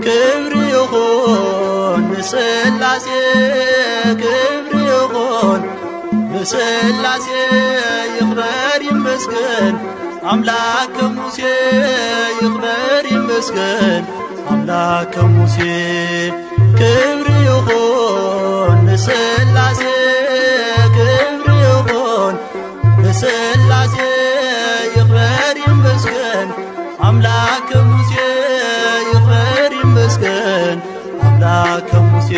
ክብሪ ይኹን ንስላሴ፣ ክብሪ ይኹን ንስላሴ፣ ይኽበር ይመስገን ኣምላክ ከሙሴ፣ ይኽበር ይመስገን ኣምላክ ከሙሴ። ክብሪ ይኹን ንስላሴ፣ ክብሪ ይኹን ንስላሴ፣ ይኽበር ይመስገን ኣምላክ ከሙሴ፣ ይኽበር ይመስገን ኣምላክ ከሙሴ።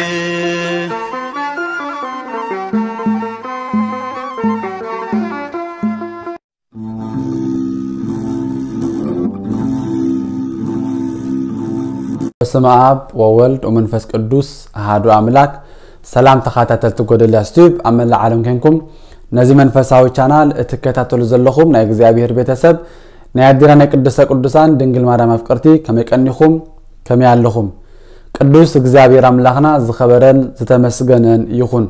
በስመ አብ ወወልድ ወመንፈስ ቅዱስ አሐዱ አምላክ። ሰላም ተኸታተልቲ ጎደልያስ ቲዩብ ኣብ መላእ ዓለም ኮንኩም ነዚ መንፈሳዊ ቻናል እትከታተሉ ዘለኹም ናይ እግዚኣብሔር ቤተሰብ፣ ናይ ኣዴና ናይ ቅድስተ ቅዱሳን ድንግል ማርያም ኣፍቀርቲ፣ ከመይ ቀኒኹም? ከመይ ኣለኹም? ቅዱስ እግዚኣብሔር ኣምላኽና ዝኸበረን ዝተመስገነን ይኹን።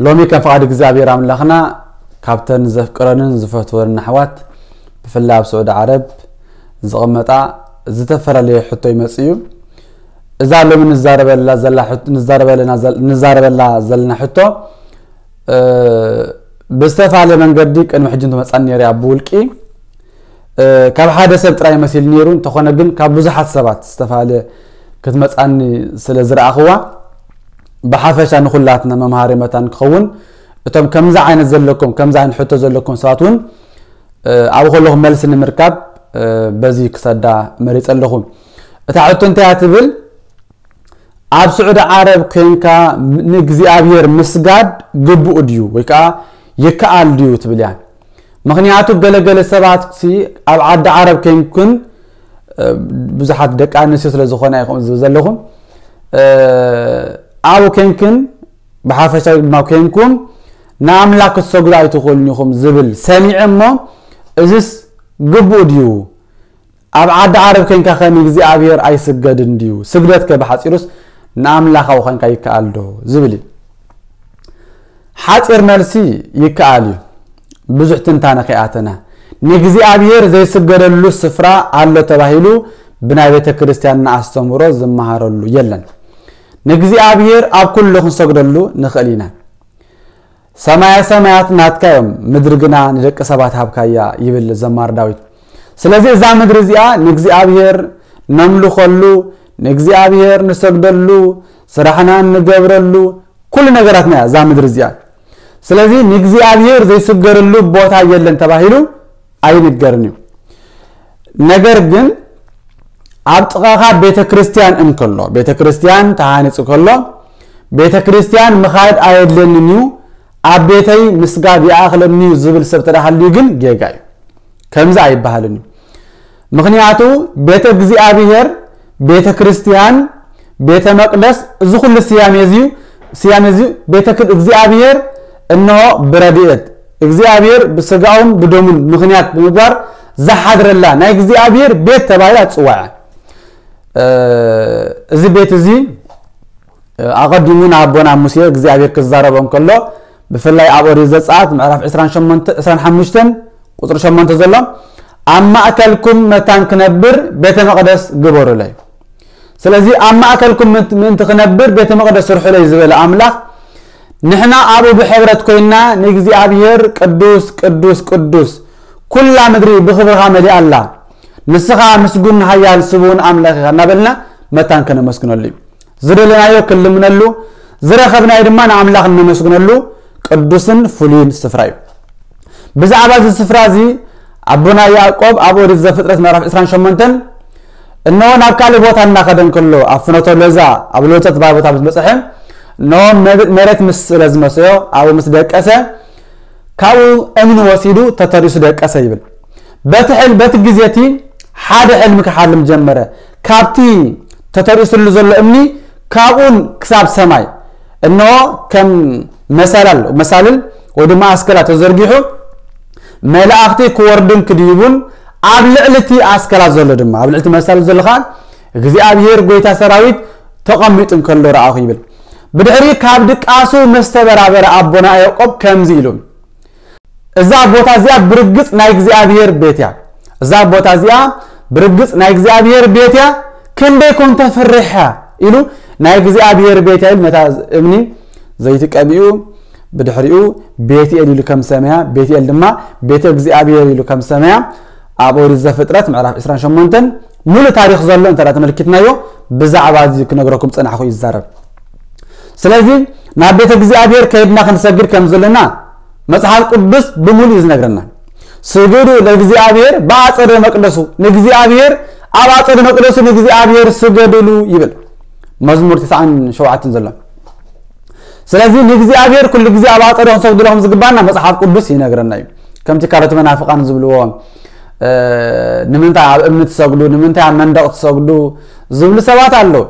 ሎሚ ከም ፍቓድ እግዚኣብሔር ኣምላኽና ካብተን ዘፍቅረንን ዝፈትወንን ኣሕዋት ብፍላይ ኣብ ስዑዲ ዓረብ ዝቕመጣ ዝተፈላለየ ሕቶ ይመጽእ እዩ። እዛ ሎሚ ንዛረበላ ዘላ ሕቶ፣ ንዛረበለና ዘል-፣ ንዛረበላ ዘለና ሕቶ፣ እ፣ ብዝተፈላለየ መንገዲ ቅድሚ ሕጂ እንትመጻኒ ነይረ እያ ብውልቂ። እ፣ ካብ ሓደ ሰብ ጥራይ መሲሉ ነይሩ፣ እንተኾነ ግን ካብ ብዙሓት ሰባት ዝተፈላለየ ክትመጻኒ ስለ ዝረኣኽዋ፣ ብሓፈሻ ንኹላትና መምሃሪ መታን ክኸውን፣ እቶም ከምዚ ዓይነት ዘለኩም፣ ከምዚ ዓይነት ሕቶ ዘለኩም ሰባት እውን፣ እ፣ ኣብኡ ከለኹም መልሲ ንምርካብ፣ እ፣ በዚ ክሰዳ መሪጸ ኣለኹ። እታ ሕቶ እንታይ እያ ትብል? ኣብ ስዑዲ ዓረብ ኮይንካ ንእግዚኣብሔር ምስጋድ ግቡእ ድዩ ወይ ከዓ ይከኣል ድዩ ትብል እያ። ምኽንያቱ ገለገለ ሰባት ሲ ኣብ ዓዲ ዓረብ ኮይንኩን፣ እ፣ ብዙሓት ደቂ ኣንስትዮ ስለ ዝኾና ይኹን ዝብል ዘለኹም፣ እ፣ ኣብኡ ኮይንክን ብሓፈሻዊ ድማ ኮይንኩም ንኣምላኽ ክትሰግዱ ኣይትኽእሉን ኢኹም ዝብል ሰሚዐ እሞ፣ እዝስ ግቡእ ድዩ? ኣብ ዓዲ ዓረብ ኮይንካ ከ ንእግዚኣብሔር ኣይስገድን ድዩ? ስግደት ከ ብሓጺሩስ ንኣምላኻዊ ኮይንካ ይከኣል ዶ? ዝብል እዩ። ሓጺር መልሲ ይከኣል እዩ። ብዙሕ ትንታነ ከይኣተና፣ ንእግዚኣብሔር ዘይስገደሉ ስፍራ ኣሎ ተባሂሉ ብናይ ቤተ ክርስቲያንና ኣስተምህሮ ዝመሃረሉ የለን። ንእግዚኣብሔር ኣብ ኩሉ ክንሰግደሉ ንኽእል ኢና። ሰማየ ሰማያት ናትካ እዮም፣ ምድሪ ግና ንደቂ ሰባት ሃብካያ ይብል ዘማሪ ዳዊት። ስለዚ እዛ ምድሪ እዚኣ ንእግዚኣብሔር ነምልኸሉ፣ ንእግዚኣብሔር ንሰግደሉ፣ ስራሕና እንገብረሉ፣ ኩሉ ነገራትና እያ እዛ ምድሪ እዚኣ። ስለዚ ንእግዚኣብሔር ዘይስገደሉ ቦታ የለን ተባሂሉ ኣይንገርን እዩ። ነገር ግን ኣብ ጥቓኻ ቤተ ክርስቲያን እንከሎ፣ ቤተ ክርስቲያን ተሃኒጹ ከሎ፣ ቤተ ክርስቲያን ምኻድ ኣየድለንን እዩ፣ ኣብ ቤተይ ምስጋድ ይኣኽለኒ እዩ ዝብል ሰብ ተደሃልዩ ግን ጌጋ እዩ። ከምዚ ኣይበሃልን እዩ። ምኽንያቱ ቤተ እግዚኣብሔር፣ ቤተ ክርስቲያን፣ ቤተ መቅደስ፣ እዚ ኩሉ ስያሜ እዚ፣ ስያሜ እዚ ቤተ ክር-፣ እግዚኣብሔር እንሆ ብረድኤት እግዚኣብሔር ብስጋኡን ብደሙን ምኽንያት ብምግባር ዝሓድረላ ናይ እግዚኣብሔር ቤት ተባሂላ ትጽዋዕ። እ፣ እዚ ቤት እዚ፣ እ፣ ኣቐዲሙ ንኣቦና ሙሴ እግዚኣብሔር ክዛረቦ እንከሎ፣ ብፍላይ ኣብ ኦሪት ዘጸኣት ምዕራፍ ዕስራን ሸሞንተ፣ ዕስራን ሓሙሽተን ቁጽሪ ሸሞንተ ዘሎ፣ "ኣብ ማእከልኩም መታን ክነብር ቤተ መቕደስ ግበሩለይ።" ስለዚ ኣብ ማእከልኩም ምእንቲ፣ ምእንቲ ክነብር ቤተ መቕደስ ስርሑለይ ዝበለ ኣምላኽ፣ ንሕና ኣብኡ ብሕብረት ኮይንና ንእግዚኣብሔር ቅዱስ፣ ቅዱስ፣ ቅዱስ፣ ኩላ ምድሪ ብኽብርኻ መሊኣ ኣላ፣ ንስኻ ምስጉን፣ ሓያል፣ ስቡን ኣምላኽ ኢኻ እናበልና መታን ከነመስግነሉ እዩ። ዝደለናዮ ክንልምነሉ፣ ዝረኸብናዮ ድማ ንኣምላኽ እነመስግነሉ ቅዱስን ፍሉይን ስፍራ እዩ። ብዛዕባ እዚ ስፍራ እዚ ኣቦና ያዕቆብ ኣብ ኦሪት ዘፍጥረት ምዕራፍ ዕስራን ሸሞንተን፣ "እነሆ ናብ ካልእ ቦታ እናኸደ እንከሎ፣ ኣብ ፍኖተ ሎዛ፣ ኣብ ሎዛ እትበሃል ቦታ ምስ በጽሐ፣ እነሆ መ-፣ መሬት ምስ ስለ ዝመሰዮ፣ ኣብኡ ምስ ደቀሰ፣ ካብኡ እምኒ ወሲዱ ተተሪሱ ደቀሰ" ይብል። በቲ ሕል-፣ በቲ ግዜ እቲ ሓደ ሕልሚ ክሓልም ጀመረ። ካብቲ ተተሪሱሉ ዘሎ እምኒ ካብኡን ክሳብ ሰማይ፣ እነሆ ከም መሰላል፣ መሳልል ወይ ድማ ኣስከላ ተዘርጊሑ፣ መላእኽቲ ክወርዱን ክድይቡን፣ ኣብ ልዕሊ እቲ ኣስከላ ዘሎ ድማ፣ ኣብ ልዕሊ እቲ መሳልል ዘሎ ኸኣ እግዚኣብሔር ጐይታ ሰራዊት ተቐሚጡ እንከሎ ረኣኹ ይብል። ብድሕሪ ካብ ድቃሱ ምስ ተበራበረ ኣቦና ያዕቆብ ከምዚ ኢሉ፣ "እዛ ቦታ እዚኣ ብርግጽ ናይ እግዚኣብሔር ቤት እያ። እዛ ቦታ እዚኣ ብርግጽ ናይ እግዚኣብሔር ቤት እያ፣ ክንደይ ኮን ተፍርሕ እያ ኢሉ፣ ናይ እግዚኣብሔር ቤት እያ ኢሉ ነታ እምኒ ዘይቲ ቀቢኡ፣ ብድሕሪኡ ቤትኤል ኢሉ ከም ሰመያ፣ ቤትኤል ድማ ቤተ እግዚኣብሔር ኢሉ ከም ሰመያ፣ ኣብ ኦሪት ዘፍጥረት ምዕራፍ ዕስራን ሸሞንተን ሙሉእ ታሪኽ ዘሎ እንተ ተመልኪትናዮ፣ ብዛዕባ እዚ ክነግረኩም ጸናሕኹ ይዛረብ። ስለዚ ናብ ቤተ እግዚኣብሔር ከይድና ክንሰግድ ከም ዘለና መጽሓፍ ቅዱስ ብምሉእ እዩ ዝነግረና። ስግዱ ለእግዚኣብሔር በአጸደ መቅደሱ፣ ንእግዚኣብሔር ኣብ ኣጸደ መቅደሱ ንእግዚኣብሔር ስገድሉ ይብል መዝሙር ትስዓን ሸውዓተን ዘሎ። ስለዚ ንእግዚኣብሔር ኩሉ ግዜ ኣብ ኣጸደ ክንሰግድሉ ከም ዝግባና መጽሓፍ ቅዱስ ይነግረና እዩ። ከምቲ ካልኦት መናፍቃን ዝብልዎ፣ እ፣ ንምንታይ ኣብ እምኒ ትሰግዱ፣ ንምንታይ ኣብ መንደቕ ትሰግዱ ዝብሉ ሰባት ኣለዉ።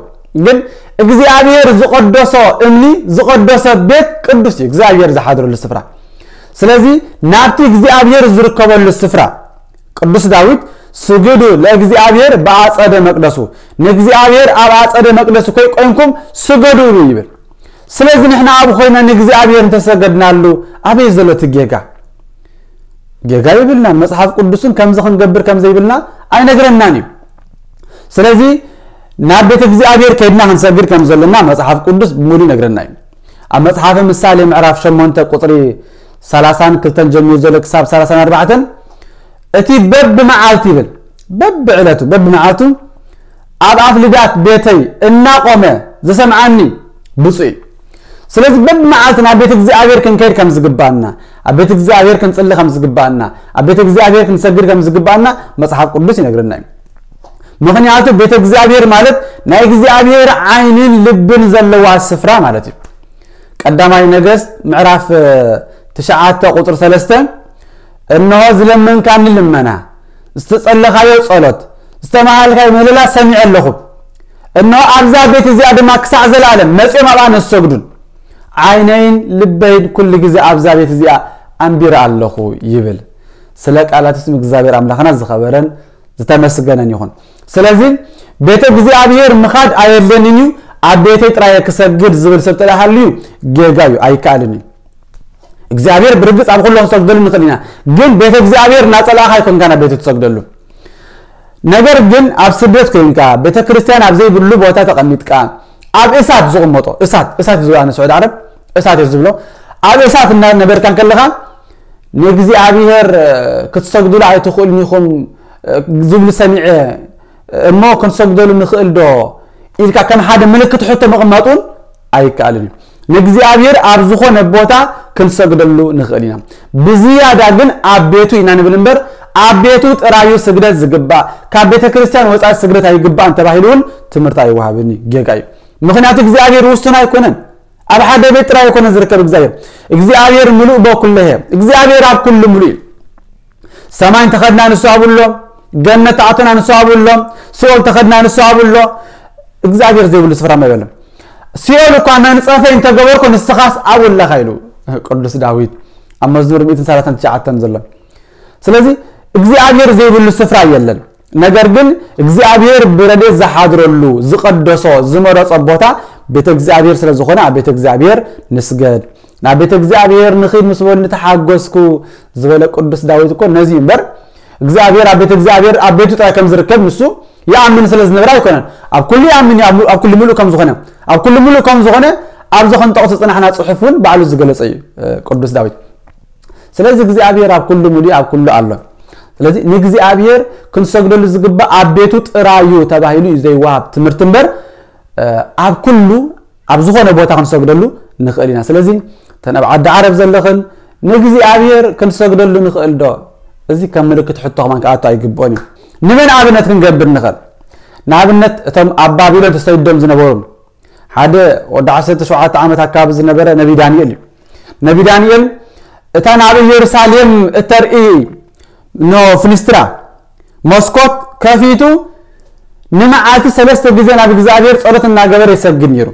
ግን እግዚኣብሔር ዝቐደሶ እምኒ፣ ዝቐደሰ ቤት ቅዱስ እዩ፣ እግዚኣብሔር ዝሓድረሉ ስፍራ። ስለዚ ናብቲ እግዚኣብሔር ዝርከበሉ ስፍራ ቅዱስ ዳዊት ስግዱ ለእግዚኣብሔር በአጸደ መቅደሱ፣ ንእግዚኣብሔር ኣብ ኣጸደ መቅደሱ ከይቆይምኩም ስገዱሉ ይብል። ስለዚ ንሕና ኣብ ኮይና ንእግዚኣብሔር እንተሰገድናሉ ኣበይ ዘሎ እቲ ጌጋ? ጌጋ የብልናን። መጽሓፍ ቅዱስን ከምዚ ክንገብር ከም ዘይብልና ኣይነግረናን እዩ። ስለዚ ናብ ቤተ እግዚኣብሔር ከይድና ክንሰግድ ከም ዘለና መጽሓፍ ቅዱስ ብሙሉ ይነግረና እዩ። ኣብ መጽሓፈ ምሳሌ ምዕራፍ ሸሞንተ ቁጽሪ ሰላሳን ክልተን ጀሚሩ ዘሎ ክሳብ ሰላሳን ኣርባዕተን፣ እቲ በብመዓልቲ ይብል፣ በብዕለቱ፣ በብመዓልቱ ኣብ ኣፍልዳት ቤተይ እናቆመ ዝሰምዓኒ ብፁዕ እዩ። ስለዚ በብመዓልቲ ናብ ቤት እግዚኣብሔር ክንከይድ ከም ዝግባና፣ ኣብ ቤት እግዚኣብሔር ክንጽሊ ከም ዝግባና፣ ኣብ ቤት እግዚኣብሔር ክንሰግድ ከም ዝግባና መጽሓፍ ቅዱስ ይነግረና እዩ። ምኽንያቱ ቤት እግዚኣብሔር ማለት ናይ እግዚኣብሔር ዓይንን ልብን ዘለዋ ስፍራ ማለት እዩ። ቀዳማይ ነገስት ምዕራፍ፣ እ፣ ትሽዓተ ቁጽሪ ሰለስተ፣ "እንሆ ዝለመንካኒ ልመና፣ ዝተጸለኻዮ ጸሎት፣ ዝተማሃልካዮ ምህለላ ሰሚዐ ኣለኹ። እንሆ ኣብዛ ቤት እዚኣ ድማ ክሳዕ ዘለኣለም መጺኦም ኣብኣ ነሰግዱን ዓይነይን ልበይን ኩሉ ግዜ ኣብዛ ቤት እዚኣ ኣንቢረ ኣለኹ" ይብል። ስለ ቃላት ስም እግዚኣብሔር ኣምላኽና ዝኸበረን ዝተመስገነን ይኹን። ስለዚ ቤተ እግዚኣብሔር ምኻድ ኣየድለንን እዩ፣ ኣብ ቤተይ ጥራየ ክሰግድ ዝብል ሰብ ተደኣ ሃልዩ ጌጋ እዩ፣ ኣይከኣልን እዩ። እግዚኣብሔር ብርግጽ ኣብ ኩሉ ክንሰግደሉ ንኽእል ኢና፣ ግን ቤተ እግዚኣብሔር እናጸላእኻ ኣይኮንካ ናብ ቤቱ ትሰግደሉ። ነገር ግን ኣብ ስደት ኮይንካ ቤተ ክርስቲያን ኣብ ዘይብሉ ቦታ ተቐሚጥካ ኣብ እሳት ዝቕመጦ፣ እሳት፣ እሳት እዩ ዝብሎ፣ ኣነ ስዑዲ ዓረብ እሳት እዩ ዝብሎ፣ ኣብ እሳት እናነበርካ እንከለኻ ንእግዚኣብሔር ክትሰግዱሉ ኣይትኽእሉን ኢኹም ዝብሉ ሰሚዐ እሞ ክንሰግደሉ ንኽእል ዶ ኢልካ ከም ሓደ ምልክት ሕቶ ምቕማጥ እውን ኣይከኣልን እዩ። ንእግዚኣብሔር ኣብ ዝኾነ ቦታ ክንሰግደሉ ንኽእል ኢና። ብዝያዳ ግን ኣብ ቤቱ ኢና ንብል እምበር ኣብ ቤቱ ጥራዩ ስግደት ዝግባእ፣ ካብ ቤተ ክርስቲያን ወፃኢ ስግደት ኣይግባእን ተባሂሉ እውን ትምህርቲ ኣይወሃብን እዩ። ጌጋ እዩ። ምኽንያቱ እግዚኣብሔር ውሱን ኣይኮነን። ኣብ ሓደ ቤት ጥራይ ኣይኮነን ዝርከብ እግዚኣብሔር። እግዚኣብሔር ምሉእ በኩለሄ፣ እግዚኣብሔር ኣብ ኩሉ ምሉእ እዩ። ሰማይ እንተኸድና ንሱ ኣብኡ ኣሎ፣ ገነት ተኣቶና ንሱ ኣብኡ ኣሎ፣ ሲኦል ተኸድና ንሱ ኣብኡ ኣሎ። እግዚኣብሔር ዘይብሉ ስፍራ ማ የለን። ሲኦል እኳ መንጸፈይ እንተገበርኩ ንስኻስ ኣብኡ ኣለኻ ኢሉ ቅዱስ ዳዊት ኣብ መዝሙር ሚእትን ሰላሳን ትሽዓተን ዘሎ። ስለዚ እግዚኣብሔር ዘይብሉ ስፍራ የለን። ነገር ግን እግዚኣብሔር ብረድኤት ዝሓድረሉ ዝቐደሶ ዝመረጾ ቦታ ቤተ እግዚኣብሔር ስለ ዝኾነ ኣብ ቤተ እግዚኣብሔር ንስገድ። ናብ ቤተ እግዚኣብሔር ንኺድ ምስ በሉ ንተሓጎስኩ ዝበለ ቅዱስ ዳዊት እኮ ነዚ እዩ እምበር እግዚኣብሔር ኣብ ቤተ እግዚኣብሔር ኣብ ቤቱ ጥራይ ከም ዝርከብ ንሱ ይኣምን ስለ ዝነበረ ኣይኮነን። ኣብ ኩሉ ይኣምን እዩ፣ ኣብ፣ ኣብ ኩሉ ምሉእ ከም ዝኾነ፣ ኣብ ኩሉ ምሉእ ከም ዝኾነ ኣብዚ ክንጠቕሶ ዝጸናሕና ጽሑፍ እውን ባዕሉ ዝገለጸ እዩ፣ እ፣ ቅዱስ ዳዊት። ስለዚ እግዚኣብሔር ኣብ ኩሉ ምሉእ ኣብ ኩሉ ኣሎ። ስለዚ ንእግዚኣብሔር ክንሰግደሉ ዝግባእ ኣብ ቤቱ ጥራዩ ተባሂሉ እዩ ዘይወሃብ ትምህርቲ እምበር፣ እ፣ ኣብ ኩሉ ኣብ ዝኾነ ቦታ ክንሰግደሉ ንኽእል ኢና። ስለዚ እተን ኣብ ዓዲ ዓረብ ዘለኽን ንእግዚኣብሔር ክንሰግደሉ ንኽእል ዶ? እዚ ከም ምልክት ሕቶ ከማን ክኣቱ ኣይግብኦን እዩ። ንመን ኣብነት ክንገብር ንኽእል? ንኣብነት እቶም ኣብ ባቢሎን ተሰዲዶም ዝነበሩ ሓደ ወዲ ዓሰርተ ሸውዓተ ዓመት ኣካባቢ ዝነበረ ነቢ ዳንኤል እዩ። ነቢ ዳንኤል እታ ናብ ኢየሩሳሌም እተርኢ ኖ ፍንስትራ መስኮት ከፊቱ ንመዓልቲ ሰለስተ ግዜ ናብ እግዚኣብሔር ጸሎት እናገበረ ይሰግድ ነይሩ።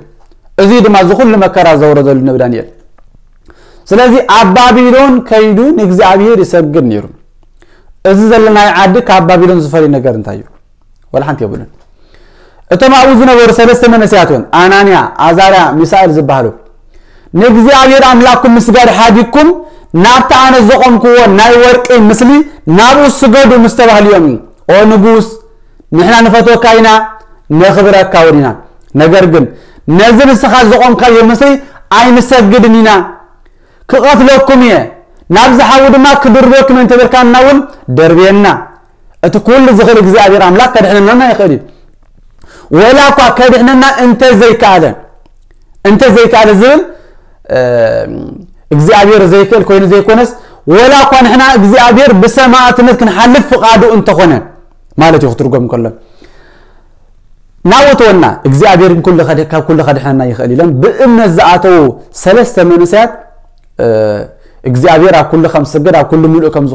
እዚ ድማ እዚ ኩሉ መከራ ዘውረደሉ ነቢ ዳንኤል። ስለዚ ኣብ ባቢሎን ከይዱ ንእግዚኣብሔር ይሰግድ ነይሩ። እዚ ዘለናዮ ዓዲ ካብ ባቢሎን ዝፈልዮ ነገር እንታይ እዩ? ወላ ሓንቲ የብሉን። እቶም ኣብኡ ዝነበሩ ሰለስተ መንእሰያት እውን ኣናንያ፣ ኣዛርያ፣ ሚሳኤል ዝበሃሉ ንእግዚኣብሔር ኣምላኽኩም ምስጋድ ሓዲግኩም ናብቲ ኣነ ዘቖምክዎ ናይ ወርቂ ምስሊ ናብኡ ስገዱ ምስ ተባህሉ እዮም። ኦ ንጉስ፣ ንሕና ንፈትወካ ኢና፣ ነኽብረካ እውን ኢና። ነገር ግን ነዚ ንስኻ ዝቖምካዮ ምስሊ ኣይንሰግድን ኢና፣ ክቐትለኩም እየ፣ ናብዚ ሓዊ ድማ ክድርበኩም እየ እንተበልካና እውን ደርብየና። እቲ ኩሉ ዝኽእል እግዚኣብሔር ኣምላኽ ከድሕነና ይኽእል እዩ። ወላ እኳ ከድሕነና እንተዘይከኣለ፣ እንተዘይከኣለ ዝብል እግዚኣብሔር ዘይክእል ኮይኑ ዘይኮነስ፣ ወላ እኳ ንሕና እግዚኣብሔር ብሰማዕትነት ክንሓልፍ ፍቓዱ እንተኾነ ማለት እዩ ክትርጎም ከሎ። ናውተወና እግዚኣብሔር ግን ኩሉ ከድ- ካብ ኩሉ ከድሕነና ይኽእል ኢሎም ብእምነት ዝኣተዉ ሰለስተ መንእሰያት እግዚኣብሔር ኣብ ኩሉ ከም ዝስገድ፣ ኣብ ኩሉ ምሉእ ከም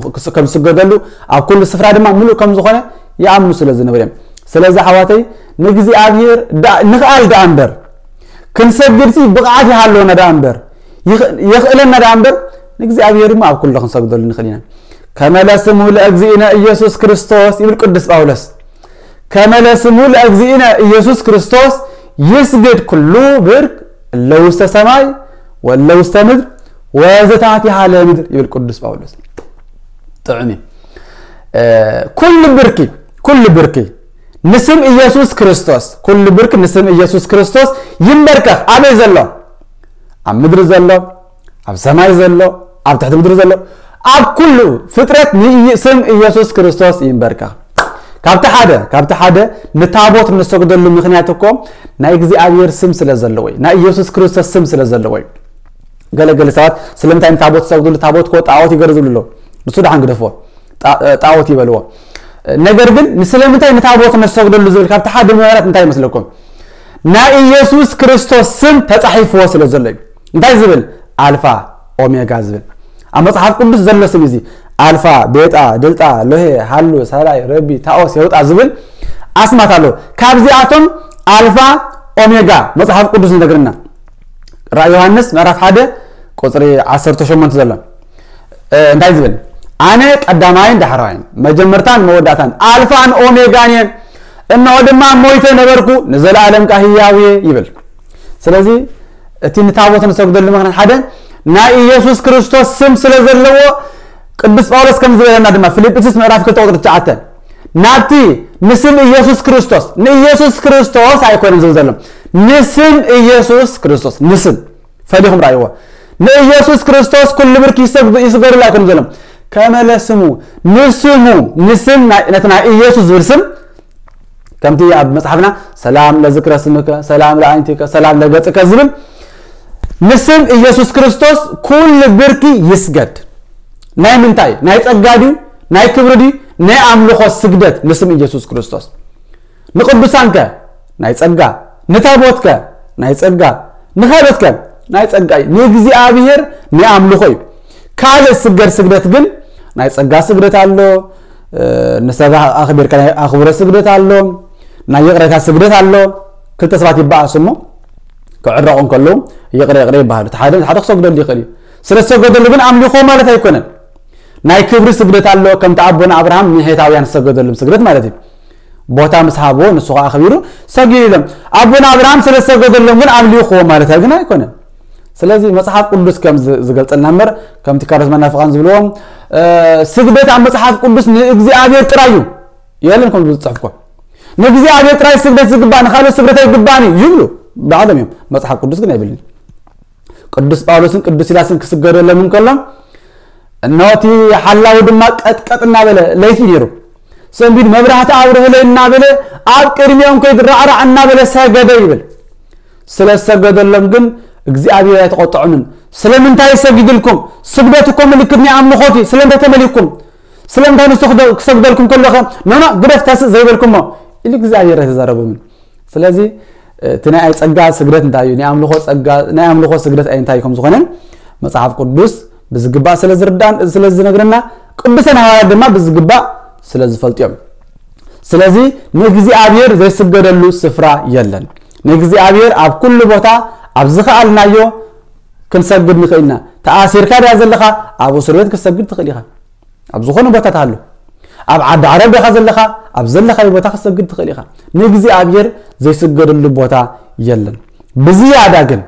ዝስገደሉ፣ ኣብ ኩሉ ስፍራ ድማ ምሉእ ከም ዝኾነ ይኣምኑ ስለ ዝነበሩ እዮም። ስለዚ ኣሕዋተይ ንእግዚኣብሔር ንኽኣል ደኣ እምበር ክንሰግድሲ ብቕዓት ይሃለወና ደኣ እምበር የኽእለና ደኣ እምበር ንእግዚኣብሔር ድማ ኣብ ኩሉ ክንሰግደሉ ንኽእል ኢና። ከመ ለስሙ ለእግዚእነ ኢየሱስ ክርስቶስ ይብል ቅዱስ ጳውሎስ። ከመ ለስሙ ለእግዚእነ ኢየሱስ ክርስቶስ ይስግድ ኩሉ ብርክ እለ ውስተ ሰማይ ወእለ ውስተ ምድር ወዘታሕቲሃ ለምድር ይብል ቅዱስ ጳውሎስ። ጥዑም እዩ። ኩሉ ብርኪ ኩሉ ብርኪ ንስም ኢየሱስ ክርስቶስ ኩሉ ብርኪ ንስም ኢየሱስ ክርስቶስ ይንበርከኽ። ኣበይ ዘሎ? ኣብ ምድሪ ዘሎ፣ ኣብ ሰማይ ዘሎ፣ ኣብ ትሕቲ ምድሪ ዘሎ፣ ኣብ ኩሉ ፍጥረት ንስም ኢየሱስ ክርስቶስ ይንበርከኽ። ካብቲ ሓደ ካብቲ ሓደ ንታቦት ንሰግደሉ ምኽንያት እኮ ናይ እግዚኣብሔር ስም ስለ ዘለዎ እዩ፣ ናይ ኢየሱስ ክርስቶስ ስም ስለ ዘለዎ እዩ። ገለገለ ሰባት ስለምንታይ ንታቦት ዝሰግድሉ ታቦት እኮ ጣዖት ይገርዝሉ ኣለዉ። ንሱ ደሓን ግደፍዎ፣ ጣ- ጣዖት ይበልዎ። ነገር ግን ንስለምንታይ ንታቦት ነሰግደሉ ዝብል ካብቲ ሓደ ምኽንያት እንታይ ይመስለኩም? ናይ ኢየሱስ ክርስቶስ ስም ተጻሒፍዎ ስለ ዘሎ እዩ። እንታይ ዝብል? ኣልፋ ኦሜጋ ዝብል ኣብ መጽሓፍ ቅዱስ ዘሎ ስም እዚ ኣልፋ፣ ቤጣ፣ ድልጣ፣ ሎሄ፣ ሃሉ፣ ሰራይ፣ ረቢ፣ ታኦስ፣ የውጣ ዝብል ኣስማት ኣሎ። ካብዚኣቶም ኣልፋ ኦሜጋ መጽሓፍ ቅዱስ ይነግርና። ራእይ ዮሃንስ ምዕራፍ ሓደ ቁጽሪ ዓሰርተ ሸሞንተ ዘሎ እንታይ ዝብል? ኣነ ቀዳማይን ዳሕራይን መጀመርታን መወዳእታን ኣልፋን ኦሜጋን እየ፣ እነሆ ድማ ሞይተ ነበርኩ ንዘለኣለም ከኣ ህያው እየ ይብል። ስለዚ እቲ ንታቦት ንሰግደሉ ምኽንያት ሓደ ናይ ኢየሱስ ክርስቶስ ስም ስለ ዘለዎ ቅዱስ ጳውሎስ ከም ዝበለና ድማ ፊልጵስዩስ ምዕራፍ ክልተ ቁጽሪ ትሽዓተ ናብቲ ንስም ኢየሱስ ክርስቶስ ንኢየሱስ ክርስቶስ ኣይኮነን ዝብል ዘሎ ንስም ኢየሱስ ክርስቶስ ንስም ፈሊኹም ራእይዎ ንኢየሱስ ክርስቶስ ኩሉ ብርክ ይስገድሉ ኣይኮነን ዘሎ ከመለ ስሙ ንስሙ ንስም ነቲ ናይ ኢየሱስ ዝብል ስም ከምቲ ኣብ መጽሓፍና ሰላም ለዝክረ ስምከ ሰላም ለኣይንቲከ ሰላም ለገጽከ ዝብል ንስም ኢየሱስ ክርስቶስ ኩሉ ብርኪ ይስገድ። ናይ ምንታይ ናይ ጸጋ ድዩ ናይ ክብሪ ድዩ ናይ ኣምልኾ ስግደት ንስም ኢየሱስ ክርስቶስ ንቅዱሳንከ ናይ ጸጋ ንታቦትከ ናይ ጸጋ ንኻልኦትከ ናይ ጸጋ እዩ ንእግዚኣብሔር ናይ ኣምልኾ እዩ። ካልእ ስገድ ስግደት ግን ናይ ጸጋ ስግደት ኣሎ ንሰብ ኣኽቢርካ ናይ ኣኽብሮ ስግደት ኣሎ ናይ ይቕሬታ ስግደት ኣሎ ክልተ ሰባት ይበኣሱ እሞ ክዕረቑ እንከለዉ ይቕረ ይቕረ ይበሃሉ እቲ ሓደ ሓደ ክሰግደሉ ይኽእል እዩ ስለ ዝሰገደሉ ግን ኣምልኾ ማለት ኣይኮነን ናይ ክብሪ ስግደት ኣሎ ከምቲ ኣቦና ኣብርሃም ንሄታውያን ዝሰገደሎም ስግደት ማለት እዩ ቦታ ምስ ሃብዎ ንሱ ከዓ ኣኽቢሩ ሰጊዱ ኢሎም ኣቦና ኣብርሃም ስለ ዝሰገደሎም ግን ኣምሊኽዎ ማለት ግን ኣይኮነን ስለዚ መፅሓፍ ቅዱስ ከም ዝገልፀልና እምበር ከምቲ ካሮስ መናፍቃን ዝብልዎም ስግደት ኣብ መፅሓፍ ቅዱስ ንእግዚኣብሔር ጥራይ እዩ የለን ከም ዝፅሕፍኮ ንእግዚኣብሔር ጥራይ ስግደት ዝግባእ ንካልእ ስግደት ኣይግባእን እዩ ይብሉ ባዕሎም እዮም መፅሓፍ ቅዱስ ግን ኣይብልን ቅዱስ ጳውሎስን ቅዱስ ሲላስን ክስገደሎም እንከሎ እነሆ እቲ ሓላዊ ድማ ቀጥቀጥ እናበለ ለይቲ ነይሩ ሰንቢድ መብራህቲ ኣብርህለይ እናበለ ኣብ ቅድሚኦም ከይዱ ራዕራዕ እናበለ ሰገደ ይብል ስለ ዝሰገደሎም ግን እግዚኣብሔር ኣይተቆጥዖምን ስለምንታይ ሰጊድልኩም ስግደት እኮ ምልክት ናይ ኣምልኾት እዩ ስለምንታይ ተመሊኩም ስለምንታይ ንሱ ክሰግደልኩም ከለኸ ኖኖ ግደፍ ተስእ ዘይበልኩሞ ኢሉ እግዚኣብሔር ኣይተዛረቦምን ስለዚ እቲ ናይ ጸጋ ስግደት እንታይ እዩ ናይ ኣምልኾ ጸጋ ናይ ኣምልኾ ስግደት ኣይ እንታይ ከም ዝኾነ መጽሓፍ ቅዱስ ብዝግባእ ስለ ዝርዳን ስለ ዝነግረና ቅዱሳን ሃዋርያት ድማ ብዝግባእ ስለ ዝፈልጡ እዮም ስለዚ ንእግዚኣብሔር ዘይስገደሉ ስፍራ የለን ንእግዚኣብሔር ኣብ ኩሉ ቦታ ኣብ ዝኸኣልናዮ ክንሰግድ ንኽእልና ተኣሲርካ ድያ ዘለኻ ኣብ እስር ቤት ክትሰግድ ትኽእል ኢኻ ኣብ ዝኾነ ቦታ ትሃሉ ኣብ ዓዲ ዓረብ ዲኻ ዘለኻ ኣብ ዘለኻዮ ቦታ ክትሰግድ ትኽእል ኢኻ ንእግዚኣብሔር ዘይስገደሉ ቦታ የለን ብዝያዳ ግን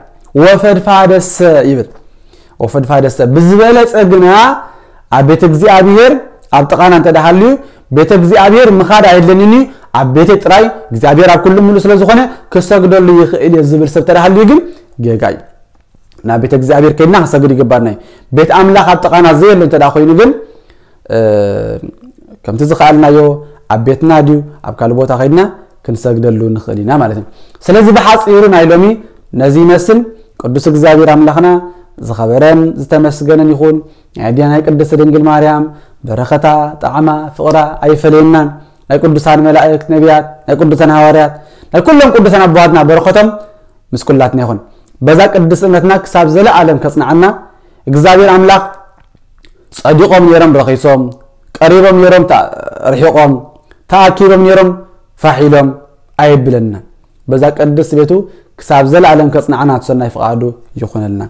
ወፈድፋደሰ ይብል ወፈድፋደሰ ብዝበለፀ ግና ኣብ ቤተ እግዚኣብሔር ኣብ ጥቓና እንተ ሃልዩ ቤተ እግዚኣብሔር ምኻድ ኣየድለንን እዩ ኣብ ቤተይ ጥራይ እግዚኣብሔር ኣብ ኩሉ ምሉእ ስለ ዝኾነ ክሰግደሉ ይኽእል እየ ዝብል ሰብ ተዳሃልዩ ግን ጌጋ እዩ። ናብ ቤተ እግዚኣብሔር ከይድና ክሰግድ ይግባና እዩ። ቤት ኣምላኽ ኣብ ጥቓና ዘየሎ እንተ ደኣ ኮይኑ ግን ከምቲ ዝኸኣልናዮ ኣብ ቤትና ድዩ ኣብ ካልእ ቦታ ከይድና ክንሰግደሉ ንኽእል ኢና ማለት እዩ። ስለዚ ብሓፂሩ ናይ ሎሚ ነዚ ይመስል። ቅዱስ እግዚኣብሔር ኣምላኽና ዝኸበረን ዝተመስገነን ይኹን። ናይ ኣዴና ናይ ቅድስቲ ድንግል ማርያም በረኸታ፣ ጣዕማ፣ ፍቕራ ኣይፈለየናን። ናይ ቅዱሳን መላእክት፣ ነቢያት፣ ናይ ቅዱሳን ሃዋርያት፣ ናይ ኩሎም ቅዱሳን ኣቦሃትና በረኸቶም ምስ ኩላትና ይኹን። በዛ ቅድስቲ እምነትና ክሳብ ዘለኣለም ከጽንዓና እግዚኣብሔር ኣምላኽ ጸዲቖም ነይሮም ረኺሶም፣ ቀሪቦም ነይሮም ርሒቖም፣ ተኣኪቦም ነይሮም ፋሕ ኢሎም ኣየብለና። በዛ ቅድስቲ ቤቱ ክሳብ ዘለኣለም ከጽንዓና እቲ ሰናይ ፍቓዱ ይኹነልና።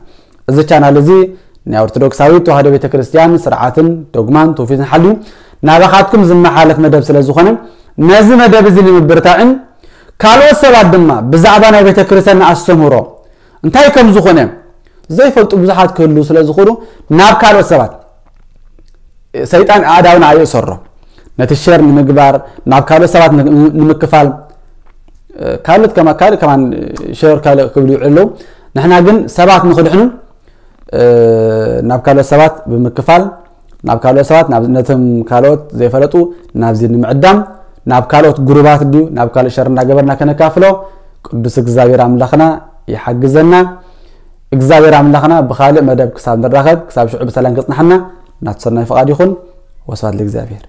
እዚ ቻናል እዚ ናይ ኦርቶዶክሳዊት ተዋህዶ ቤተክርስትያን ስርዓትን ዶግማን ትውፊትን ሓልዩ ናባኻትኩም ዝመሓለፍ መደብ ስለ ዝኾነ ነዚ መደብ እዚ ንምብርታዕን ካልኦት ሰባት ድማ ብዛዕባ ናይ ቤተክርስትያን ኣስተምህሮ እንታይ ከም ዝኾነ ዘይፈልጡ ብዙሓት ክህሉ ስለ ዝኾኑ ናብ ካልኦት ሰባት ሰይጣን ኣእዳውና ኣየእሰሮ ነቲ ሸር ንምግባር ናብ ካልኦት ሰባት ንምክፋል ካልኦት ከማ ካልእ ከማን ሸር ካልእ ክብሉ ይውዕሉ ኣለዉ። ንሕና ግን ሰባት ንኽድሕኑ ናብ ካልኦት ሰባት ብምክፋል ናብ ካልኦት ሰባት ነቶም ካልኦት ዘይፈለጡ ናብዚ ንምዕዳም ናብ ካልኦት ግሩባት ድዩ ናብ ካልእ ሸር እናገበርና ከነካፍሎ ቅዱስ እግዚኣብሔር ኣምላኽና ይሓግዘና። እግዚኣብሔር ኣምላኽና ብኻልእ መደብ ክሳብ ንራኸብ ክሳብ ሽዑ ብሰላም ከጽንሓና ናቱ ሰናይ ፍቓድ ይኹን። ወስብሐት ለእግዚኣብሔር።